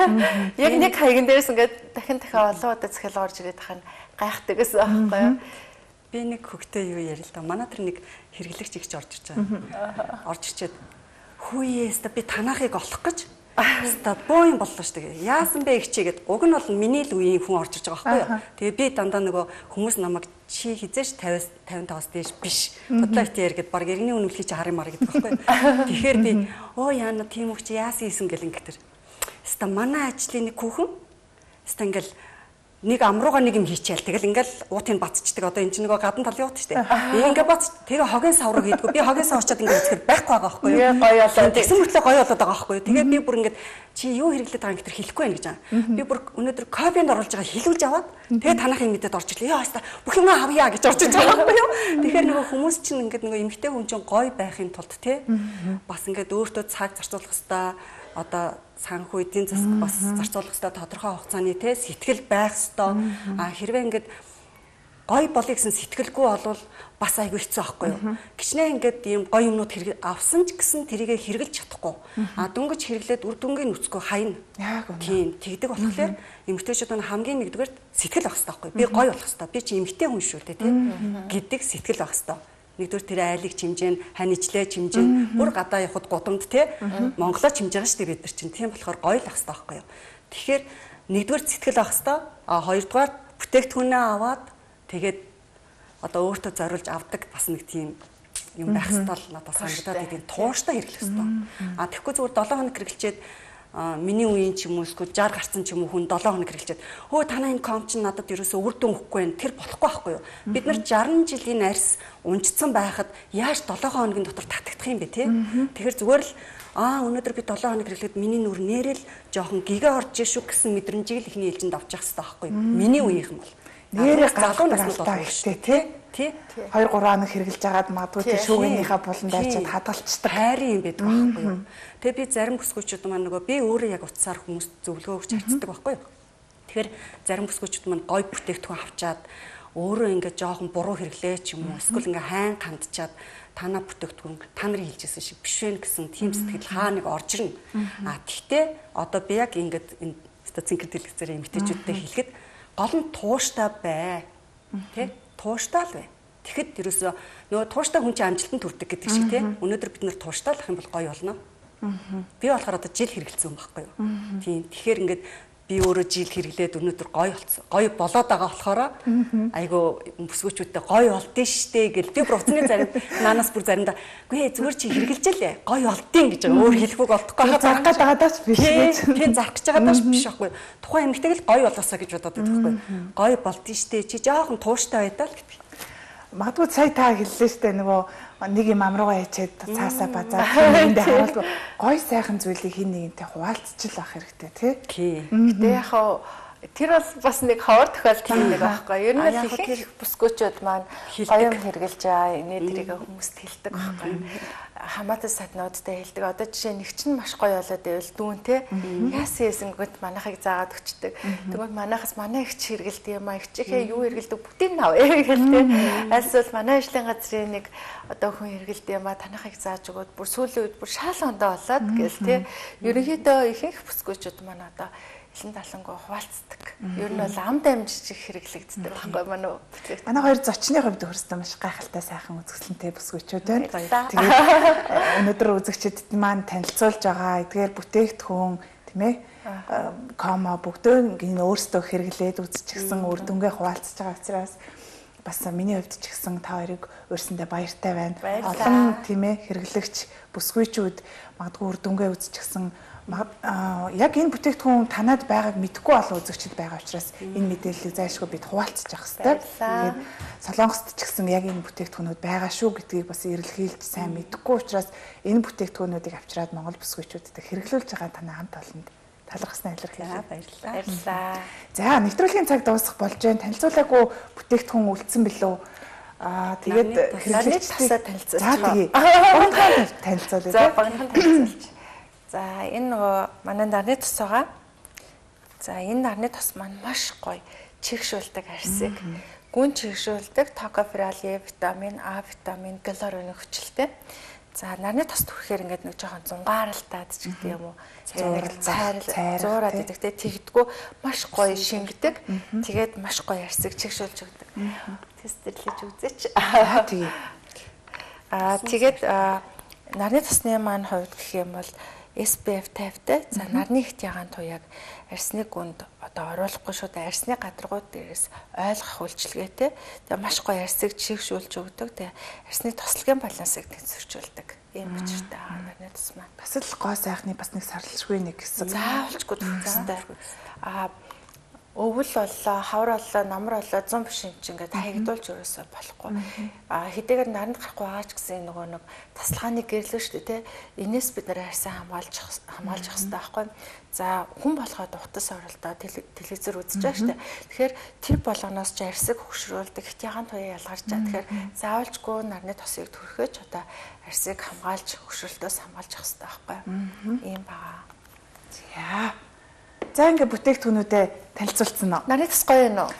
Яг нэг хаягн дээрээс ингээд дахин дахин олон удаа захиалга орж ирээд тахын гайхдаг гэсэн аахгүй юу? Би нэг хөгтөө юу ярил л да. Манай тэр нэг хэрэглэгч ихч орж ирж байгаа. Орж ирчээд хүүеэс та би танаахыг олох гэж Ста боо юм боллоо шүү дээ. Яасан бэ ихчээгээд уг нь бол миний л үеийн хүн орж ирж байгаа байхгүй юу. Тэгээ би дандаа нөгөө хүмүүс намайг чи хизээш пятьдесят пятьдесят дээш биш. Бодлоо итээр гээд баг иргэний үнэмлэхий чи харин мар гэдэг байхгүй юу. Тэгэхээр би оо яана тийм үг чи яасан ийсэн гэл ингэтэр. Ста манай ажлын нэг хүүхэн ста ингээл нэг амрууга нэг юм хийчихэл тэгэл ингээл уутыг бацчдаг одоо энэ чинь нөгөө гадна талын уут шүү дээ. Ингээ бац тэгээ хогийн савраг хийдгүү. Би хогийн сав очиод ингээ үзэхээр байхгүй байгаа байхгүй юу? Гоё болоо. Тэгсэн мөртлөө гоё болоод байгаа байхгүй юу? Тэгээ би бүр ингээд чи юу хэрэглээд байгаа юм гэтэр хэлэхгүй байх гэж байгаа. Би бүр өнөөдөр копинд оруулж байгаа хэлүүлж аваад тэгээ танахын мэдэд орж ирлээ. Яа хаста бүх юм авъя гэж орж иж байгаа байхгүй юу? Тэгэхээр нөгөө хүмүүс чинь ингээд нөгөө эмгтэй хүн чинь гоё байхын тулд те бас ингээд өөртөө цаг зарцуулах хэвээр одоо санхүү эдийн засаг бас зарцуулах хэвээр тодорхой хугацааны те сэтгэл байх хэвээр а хэрвээ ингээд гой болъё гэсэн сэтгэлгүй болвол бас айгүй хэцүү байхгүй юу. Гичнээн ингээд ийм гой юмнууд хэрэг авсан ч гэсэн тэрийгэ хэрэгжилж чадахгүй. А дөнгөж хэрэглээд үр дүнгийн нүцгөө хайна. Яг үнэ. Тийм тэгдэг болохоор эмэгтэйчүүд нь хамгийн нэгдүгээр сэтгэл авах хэрэгтэй байхгүй юу. Би гой болох хэрэгтэй. Би чи эмэгтэй хүн шүү дээ тийм гэдэг сэтгэл авах хэрэгтэй. Нэгдүгээр тэр айлыг чимжээн, ханижлээ чимжээн, бүр гадаа явахд гудамд те Монголоо чимж байгаа шүү дээ бид нар чинь. Тийм болохоор гоё л ах хэрэгтэй байхгүй юу. Тэгэхээр нэгдүгээр сэтгэл авах хэрэгтэй. А хоёрдугаар бүтээгдэхүүнээ аваад тэгээд одоо өөртөө зориулж авдаг бас нэг тийм юм байх хэрэгтэй л надад санагдаад идэв. Тууштай хэрэглэх хэрэгтэй. А тэгэхгүй зүгээр долоо хоног хэрэглэчээд миний үеийн ч юм уу эсвэл шарх гарсан ч юм уу хүн долоо хоног хэрэглэчээд хөө танаа энэ ком чинь надад ерөөсөө үр дүн өгөхгүй байх. Тэр болохгүй байхгүй юу? Бид нар шархан жилийн арьс унжцсан байхад яаж долоо хоногийн дотор татагдах юм бэ те? Тэгэхээр зүгээр л аа өнөөдөр би долоо хоног хэрэглээд миний нүр нэрэл жоохон гигээ орж шүү гэсэн мэдрэмжийг л ихний ээлжинд авч явах хэрэгтэй байхгүй юу? Миний үеийнхэн бол нэрээ галуун настай ихтэй тий. Тий. хоёр гурван хоног хэрглэж агаад магадгүй тий шүүгийнхаа буланд арчаад хадгалцдаг. Хайрын юм байдаг байхгүй юу. Тэгээ би зарим бүсгүйчүүд маань нөгөө би өөрөө яг утсаар хүмүүст зөвлөгөө өгч харцдаг байхгүй юу. Тэгэхээр зарим бүсгүйчүүд маань гой бүтээгдэхүүн авчаад өөрөө ингээд жоохон буруу хэрэглээ ч юм уу эсвэл ингээ хайн хандчаад танаа бүтээгдэхүүн та нарын хэлжсэн шиг биш вэ гэсэн тийм сэтгэл хаа нэг орж ирнэ. А тэгтээ одоо би яг ингээд энэ цэнхэр дэлгэцээр эмгтээчүүдтэй хэлэхэд гол нь тууштай бай. Тэ? Тууштай л бай. Тэгэхэд ерөөсөө нөгөө тууштай хүн чинь амжилтанд хүрдэг гэдэг шиг тий. Өнөөдөр бид нар тууштай л ах юм бол гоё болно. Би болохоор одоо жил хэрэгэлсэн юм байхгүй юу. Тийм. Тэгэхээр ингээд би өөрөө жил хэрэглээд өнөөдөр гоё болсон. Гоё болоод байгаа болохоор айгу бүсгүүчүүдтэй гоё олдсон штэ гэл би бүр уцны зарим наанаас бүр заримдаа үгүй зүгээр чи хэрэгжилжээ гоё олдсон гэж өөр хэлэхүүг олдохгүй зарах гэж байгаадаач биш гэж. Тийм зарах гэж байгаадаач биш байхгүй. Тухайн эмэгтэйг л гоё болоосаа гэж бодоод байдаг байхгүй. Гоё болдсон штэ чи жоохон тууштай байдаа л гэдэг. Магадгүй сая та хэллээ штэ нөгөө нэг юм амруугаа ячээд цаасаа базаа эндээ харуулгүй гой сайхан зүйлийг хин нэгэнтэй хуваалцчих ах хэрэгтэй тий. Гэтэ яг тэр бол бас нэг ховор тохиолдол юм нэг байхгүй. Ер нь л их бүсгүүчүүд маань гоё юм хэрглэж аа энэ тэрийг хүмүүст хэлдэг байхгүй. Хамаатай саднуудтай хэлдэг. Одоо жишээ нэг чинь маш гоё болоод байвал дүүн те яасан ясангууд манайхыг заагаад өчтдөг. Тэгвэл манайхаас манай их ч хэргэлдэг юм а их чихээ юу хэргэлдэг бүгдийг нь авъя гэлтэй. Альсвал манай ажлын газрын нэг одоо хүн хэргэлдэг юм а танахыг зааж өгөөд бүр сүүлийн үед бүр шаал ондоо болоод гэл те. Ерөнхийдөө ихэнх бүсгүүчүүд маань одоо элен талангуу хуваалцдаг. Ер нь бол ам дамжиж хэрэглэгддэг байхгүй манай бүтээгдэхүүн. Манай хоёр зочны хувьд хөрсдөө маш гайхалтай сайхан үзэсгэлэнтэй бүсгүйчүүд байна. Тэгээд өнөөдөр үзэгчдэд маань танилцуулж байгаа эдгээр бүтээгдэхүүн тийм ээ комо бүгдөө ингэ өөрсдөө хэрэглээд үзчихсэн үр дүнгээ хуваалцж байгаа учраас бас миний хувьд ч гэсэн та хоёрыг өөрсөндөө баяртай байна. Олон тийм ээ хэрэглэгч бүсгүйчүүд магадгүй үр дүнгээ үзчихсэн яг энэ бүтээгдэхүүн танад байгааг мэдэхгүй олон үзэгчд байгаа учраас энэ мэдээллийг зайлшгүй бид хуваалцах хэрэгтэй. Тэгээд Солонгост ч гэсэн яг энэ бүтээгдэхүүнүүд байгаа шүү гэдгийг бас эрэлхийлж сайн мэдэхгүй учраас энэ бүтээгдэхүүнүүдийг авчираад Монгол бүсгүйчүүдэд хэрэглүүлж байгаа танай хамт олонд талархсан илэрхийлээ. Баярлалаа. Баярлалаа. За нэвтрүүлгийн цаг дуусах болж байна. Танилцуулаагүй бүтээгдэхүүн үлдсэн билүү? Аа тэгээд хэрэглэгчдээ танилцуулж. За тэгээ. Багнхан танилцуулъя. За багнхан танилцуулж. За энэ нөгөө манай нарны тос байгаа. За энэ нарны тос маань маш гоё чигшүүлдэг арсыг. Гүн чигшүүлдэг токоферали, витамин А, витамин, галорын хүчилтэй. За нарны тост түрхээр ингээд нэг жоохон зунгааралтаад ч гэдэг юм уу. Цайрал, зуураад идэгтэй тэгдэггүй маш гоё шингэдэг. Тэгээд маш гоё арсыг чигшүүлж өгдөг. Тестерлэж үзээч. Аа тэгээ. Аа тэгээд нарны тосны маань хувьд гэх юм бол эс пи эф тавьтай. За нарны ихт ягаан туяаг арсны гүнд одоо оруулахгүй шүү дээ. Арсны гадаргууд дээрээс ойлгох үйлчилгээтэй. Тэгээ маш гоё арсыг чигшүүлж өгдөг. Тэгээ арсны тослогийн балансыг тэнцвэржүүлдэг. Ийм учиртай байгаа нарны тос маань. Бас л гоо сайхны бас нэг сарлшгүй нэг хэсэг. Заавалчгүй төвчтэй. Аа өвөл боллоо, хавар боллоо, намар боллоо, зам биш юм чи ингээд хаягдуулж өрөөсөө болохгүй. А хэдийгээр наранд гарахгүй байгаа ч гэсэн нөгөө нэг тасалгааны гэрлээ шүү дээ, тэ. Энээс бид нэр хайсан хамгаалж хамгаалж явах хэрэгтэй байхгүй. За хүн болгоод утас оролдоо телевизээр үзэж байгаа шүү дээ. Тэгэхээр тэр болгоноос ч арсыг хөгшрүүлдэг, хит ягаан туяа ялгарч байгаа. Тэгэхээр заавалжгүй нарны тосыг төрөхөж одоо арсыг хамгаалж хөгшрөлтөөс хамгаалж явах хэрэгтэй байхгүй. Ийм баа. За За ингээ бүтээгдэхүүнүүдэд танилцуулсан уу? Нарны тос гоё юм уу?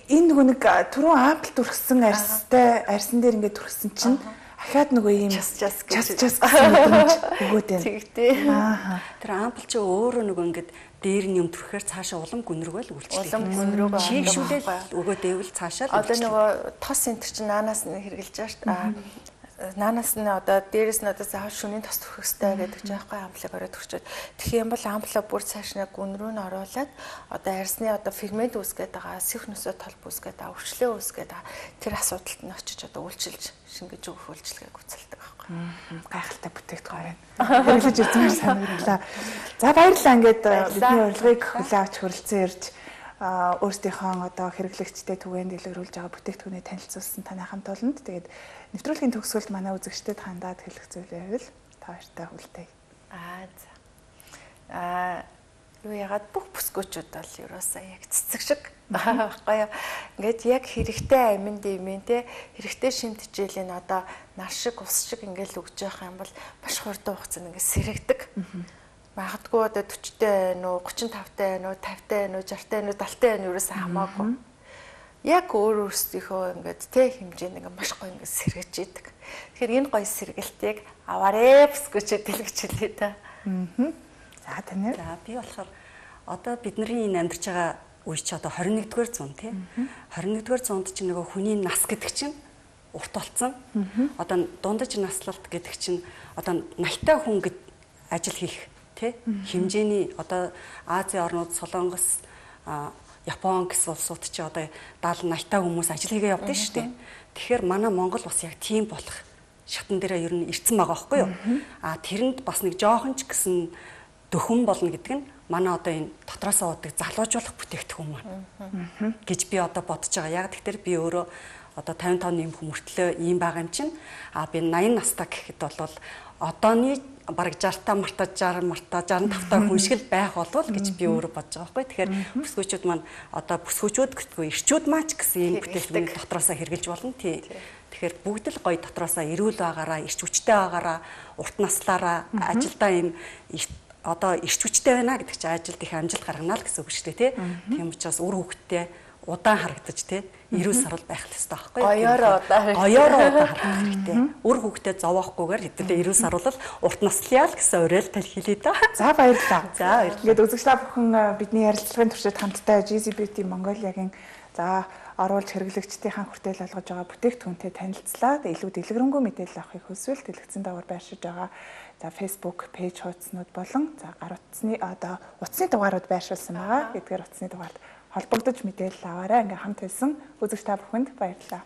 Энэ нөгөө нэг түрүүн ампл түрхсэн арстай арсан дээр ингээ түрхсэн чинь ахаад нөгөө ийм час час час час гэсэн өгөөд байна. Тэгтээ. Аа. Тэр ампл чи өөрөө нөгөө ингээд дээр нь юм түрхэхээр цаашаа улам гүн рүүгээ л үйлчлээ. Улам гүн рүүгээ чийгшүүлэл өгөөд байвал цаашаа л. Одоо нөгөө тос центр чинь наанаас нь хэрэгжилж байгаа шүү дээ. Наанаас нь одоо дээрэс нь одоо заавал шөнийн тос төрөх хэрэгтэй гэдэг чинь байхгүй амплыг ороод төрчөөд тэгэх юм бол амплаа бүр цааш нэг гүн рүү нь оруулаад одоо арсны одоо фермент үүсгээд байгаа сэх нөсөө толб үүсгээд байгаа өвчлөө үүсгээд байгаа тэр асуудалд нь очиж одоо үйлчилж шингэж өгөх үйлчилгээг үзэлдэг байхгүй. Гайхалтай бүтээгдэхүүн байна. Хэрэглэж үзмээр санагдлаа. За баярлалаа ингээд бидний урилгыг хүлээн авч хүрэлцэн ирж өөрсдийнхөө одоо хэрэглэгчтэй түгээн дэлгэрүүлж байгаа бүтээгдэхүүнийг танилцуулсан таны хамт олонд тэгээд нэвтрүүлгийн төгсгөлд манай үзэгчдэд хандаад хэлэх зүйл байвал та хоёртай хүлтэй. Аа за. Аа Юу ягаад бүх бүсгүүчүүд бол ерөөсөө яг цэцэг шиг байхгүй юу. Ингээд яг хэрэгтэй аминд имэн те хэрэгтэй шимтгийлэн одоо нар шиг ус шиг ингээд л өгж явах юм бол маш хурдан хугацаанд ингээд сэрэгдэг. Магадгүй одоо forty-тэй байна уу, thirty-five-тэй байна уу, fifty-тэй байна уу, sixty-тэй байна уу, seventy-тэй байна уу ерөөсөө хамаагүй. Яг өөр өөрсдийнхөө ингээд те хэмжээнд ингээд маш гоё ингээд сэргэж идэг. Тэгэхээр энэ гоё сэргэлтийг аваарэ бүсгүүчүүд дэлгэж хэлээ та. Аа. За танай. За би болохоор одоо бидний энэ амьдарч байгаа үе чи одоо twenty-one-р зуун тий. twenty-one-р зуунд чи нөгөө хүний нас гэдэг чинь урт болсон. Одоо дундаж наслалт гэдэг чинь одоо наятай хүн гэд ажил хийх тий хэмжээний одоо Азийн орнууд Солонгос, Япон гэсэн улсууд чи одоо даал наятай хүмүүс ажил хийгээ явдаг шүү дээ. Тэгэхээр манай Монгол бас яг тийм болох шатан дээрээ ер нь ирцэн байгаа байхгүй юу? А тэрэнд бас нэг жоохон ч гэсэн дөхөн болно гэдэг нь манай одоо энэ дотроосоо удаг залуужуулах бүтээгдэхүүн маань гэж би одоо бодож байгаа. Яг тэгэхээр би өөрөө одоо fifty-five юм хүмүүртлөө ийм байгаа юм чинь а би ninety настай гэхэд бол одооний бараг sixty марта sixty марта sixty-five хүн шиг л байх болов гэж би өөрөө бодож байгаа байхгүй. Тэгэхээр бүсгүүчүүд маань одоо бүсгүүчүүд гэхгүй ирчүүд маань ч гэсэн ийм бүтээгдэхүүн дотроосоо хэрглэж болно тий. Тэгэхээр бүгд л гоё дотроосоо эрүүл байгаараа, ирч хүчтэй байгаараа, урт наслаараа ажилдаа ийм одоо ирч хүчтэй байна гэдэг чинь ажилд их амжилт гаргана л гэсэн үг шүү дээ тий. Тийм учраас үр хөвгттэй удаан харагдаж тий эрүүл сарвал байх л ёстой байхгүй юу? Гоёороо удаан. Гоёороо удаан харагдах хэрэгтэй. Үр хөвгттэй зовоохгүйгээр хэдүүлээ эрүүл сарвал урт наслая л гэсэн уриалтай хэлээ да. За баярлалаа. За баярлалаа. Ингээд үзэгчлээ бүхэн бидний ярилцлагын туршид хамтдаа G Z Beauty Mongolia-гийн за оруулж хэрэглэгчдийн хүртэл олгож байгаа бүтээгдэхүүнтэй танилцлаа. Илүү дэлгэрэнгүй мэдээлэл авахыг хүсвэл дэлгэцэн даваар байршиж байгаа. За Facebook пэйж хуудснууд болон за гар утасны одоо утасны дугаарууд байршуулсан байгаа. Эдгээр утасны дугаард холбогдож мэдээлэл аваарай. Ингээм хамт хэлсэн үзэгч та бүхэнд баярлалаа.